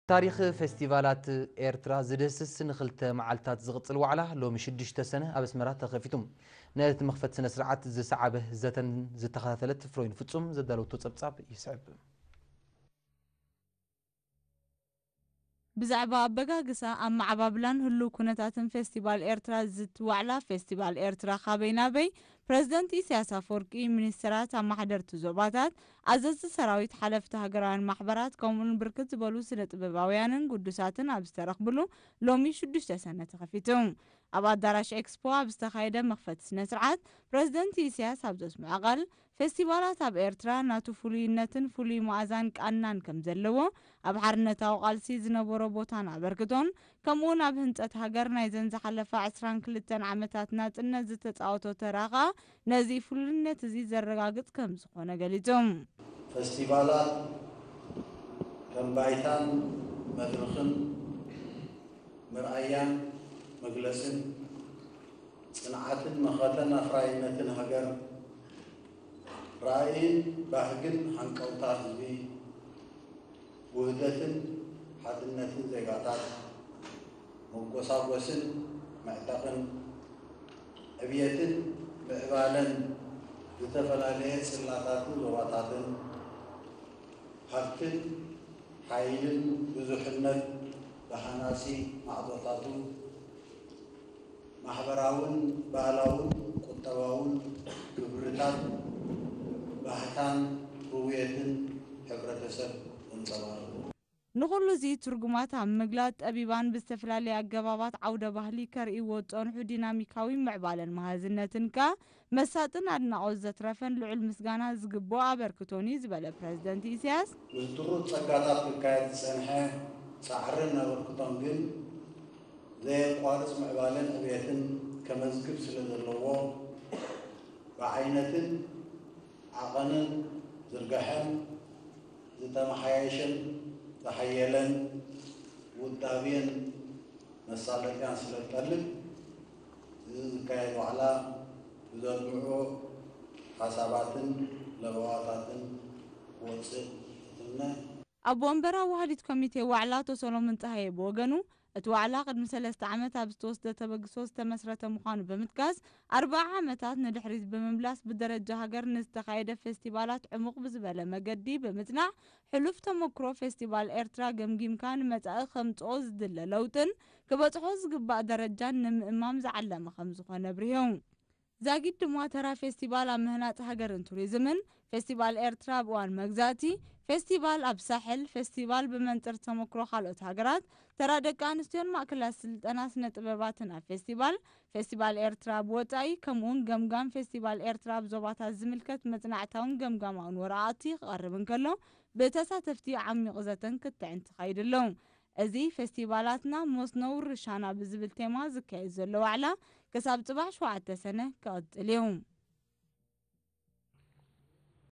ታሪኽ ፌስቲቫላት ኤርትራ ዝድህስስ ንኽልተ መዓልታት ዝቕጽል ዋዕላ ሎሚ ሽዱሽተ ሰነ ኣብ ኣስመራ ተኸፊቱ። ነቲ መኽፈቲ ስነ ስርዓት ዝሰዓበ ዘተን ዝተኸታተለት ፍሮይን ፍጹም ዘዳለወቶ ጸብጻብ ይስዕብ። ብዛዕባ ኣበጋግሳ፣ ኣመዓባብላን ህሉው ኩነታትን ፌስቲቫል ኤርትራ ዝዝቲ ዋዕላ ፌስቲቫል ኤርትራ ካበይ ናበይ፣ ፕረዚደንት ኢሳያስ ኣፈወርቂ፣ ሚኒስተራት፣ ኣመሓደርቲ ዞባታት፣ ኣዘዝቲ ሰራዊት፣ ሓለፍቲ ሃገራውያን ማሕበራት፣ ከምኡውን ብርክት ዝበሉ ስነ ጥበባውያንን ግዱሳትን ኣብ ዝተረኽብሉ ሎሚ ሽዱሽተ ሰነ ተኸፊቱ። ኣብ ኣዳራሽ ኤክስፖ ኣብ ዝተኻየደ መኽፈቲ ስነ ስርዓት፣ ፕረዚደንት ኢሳያስ ኣብ ዘስምዖ ቃል፣ ፌስቲቫላት ኣብ ኤርትራ ናቱ ፍሉይነትን ፍሉይ መኣዛን ቃናን ከም ዘለዎ፣ ኣብ ሓርነታዊ ቃልሲ ዝነበሮ ቦታን ኣበርክቶን፣ ከምኡውን ኣብ ህንጸት ሃገር ናይዘን ዝሓለፋ ዕስራን ክልተን ዓመታት ናጽነት ዝተጻወቶ ተራ ከኣ ነዚ ፍሉይነት እዚ ዘረጋግጽ ከም ዝኾነ ገሊጹ። ፌስቲቫላት ከም ባይታን መድረኽን መርኣያን መግለጽን ጽንዓትን መኸተን ኣፍራይነትን ሃገር፣ ራእይን ባህግን ሃንቀውታ ህዝቢ፣ ውህደትን ሓድነትን ዜጋታት፣ መጎሳጎስን መዕጠቕን ዕብየትን ምዕባለን ዝተፈላለየ ጽላታትን ዞባታትን፣ ሃብትን ሓይልን ብዙሕነት ብሃናጺ ማዕጾታቱ፣ ማሕበራውን ባህላውን ቁጠባውን ክብርታት፣ ባህታን ርውየትን ሕብረተሰብ ዘንጸባርቑ። ንኹሉ እዚ ትርጉማት ኣብ ምግላጽ፣ ጠቢባን ብዝተፈላለየ ኣገባባት ዓውደ ባህሊ ከርእይዎ ዝጸንሑ ዲናሚካዊ ምዕባለን መሃዝነትን ከኣ መሳጥን ኣድናቖት ዘትረፈን ልዑል ምስጋና ዝግብኦ ኣበርክቶን እዩ ዝበለ ፕረዚደንት ኢሳያስ፣ ምስ ድሩት ጸጋታት ክካየድ ዝጸንሐ ጻዕርን ኣበርክቶን ግን ዘየቋርጽ ምዕባለን ዕብየትን ከመዝግብ ስለ ዘለዎ፣ ብዓይነትን ዓቐንን ዝርግሐን ዝተመሓየሸን ዝሓየለን ውዳቤን መሳለጥያን ስለ ዝጠልብ፣ እዚ ዝካየድ ዋዕላ ብዘድምዑ ሓሳባትን ለበዋታትን ክወጽእ እትምነ። ኣብ ወንበር ኣዋሃዲት ኮሚቴ ዋዕላ ኣቶ ሰሎሞን ጸሃየ ብወገኑ፣ እቲ ዋዕላ ቅድሚ ሰለስተ ዓመት ኣብ ዝተወስደ ተበግሶ ዝተመስረተ ምዃኑ ብምጥቃስ፣ ኣርብዓ ዓመታት ንድሕሪት ብምምላስ ብደረጃ ሃገር ንዝተኻየደ ፌስቲቫላት ዕሙቕ ብዝበለ መገዲ ብምጽናዕ፣ ሕሉፍ ተመክሮ ፌስቲቫል ኤርትራ ገምጊምካ ንመጻኢ ከምጽኦ ዝድለ ለውጥን ክበጽሖ ዝግባእ ደረጃን ንምእማም ዝዓለመ ከም ዝኾነ ኣብሪሁ። ዛጊድ ድማ ተራ ፌስቲቫል ኣብ ምህናጽ ሃገርን ቱሪዝምን፣ ፌስቲቫል ኤርትራ ኣብ እዋን መግዛእቲ፣ ፌስቲቫል ኣብ ሳሕል፣ ፌስቲቫል ብመንጽር ተመክሮ ካልኦት ሃገራት፣ ተራ ደቂ ኣንስትዮን ማእከላት ስልጠና ስነ ጥበባትን ኣብ ፌስቲቫል፣ ፌስቲቫል ኤርትራ ኣብ ወጻኢ፣ ከምኡውን ገምጋም ፌስቲቫል ኤርትራ ኣብ ዞባታት ዝምልከት መጽናዕታውን ገምጋማውን ወረቓቕቲ ክቐርብ እንከሎ፣ ብተሳተፍቲ ዓሚቕ ዘተን ክትዕን ተኻይዱ ኣሎ። እዚ ፌስቲቫላትና መስኖ ውርሻና ብዝብል ቴማ ዝካየድ ዘሎ ዋዕላ ክሳብ ጽባሕ ሸውዓተ ሰነ ክቕጽል እዩ።